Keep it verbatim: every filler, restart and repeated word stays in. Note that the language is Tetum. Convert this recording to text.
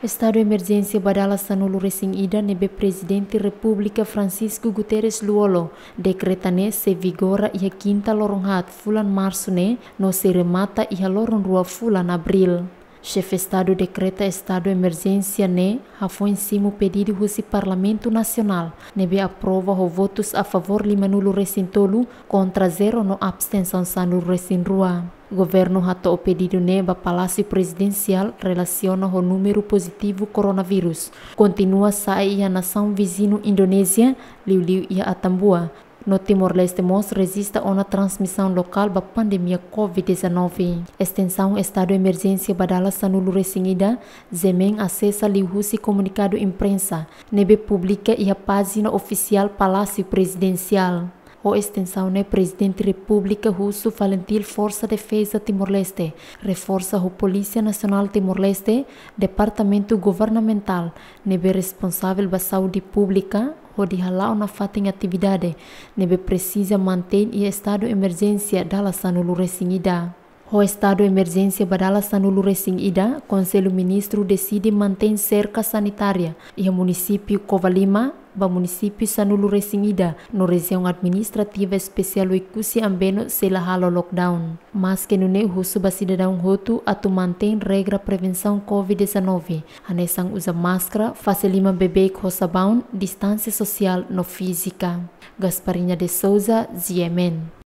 Estadu emerjénsia ba dala sanulu resin ida ne'ebé Prezidente Repúblika Francisco Guterres Lú-Olo dekreta ne'e sei vigora iha kinta loron haat fulan Marsu ne'e no sei remata iha loron rua fulan Abríl. Xefe Estadu dekreta estadu emerjénsia ne'e hafoin simu pedidu husi Parlamentu Nasionál, ne'ebé aprova ho votus a favór lima-nulu resin tolu, kontra zero no abstensaun sanulu resin rua. Governu hato'o pedidu ne'e ba Palásiu Prezidensiál relasiona ho númeru pozitivu koronavírus kontinua sa'e iha nasaun viziñu Indonézia, liuliu iha Atambua. No Timor-Leste mós rejista ona transmisaun lokál ba pandemia covid dezanove. Estensaun estadu emerjénsia ba dala sanulu resin ida, GMEN asesa liuhusi komunikadu imprensa ne'ebé publika iha pájina ofisiál Palásiu Prezidensiál. Ho estensaun ne'e Prezidente Repúblika husu FALINTIL Forsa Defeza Timor-Leste reforsa ho Polísia Nasionál Timor-Leste, departamentu governamentál ne'ebé responsavel ba saúde públika, hodi hala'o nafatin atividade ne'ebé presiza mantein iha estadu emerjénsia dala sanulu resin ida. Ho estadu emerjénsia ba dala sanulu resin ida, Konsellu Ministru deside mantein serka sanitária iha munisípiu Covalima, ba munisípiu sanulu resin ida no Rejiaun Administrativa Espesiál Oekusi Ambeno sei la halo lockdown. Maske nune'e husu ba sidadaun hotu atu mantein regra prevensaun covid dezanove, hanesan uza máskara, fase liman beibeik ho sabaun, distánsia sosiál no fízika. Gasparinha de Souza, GMN.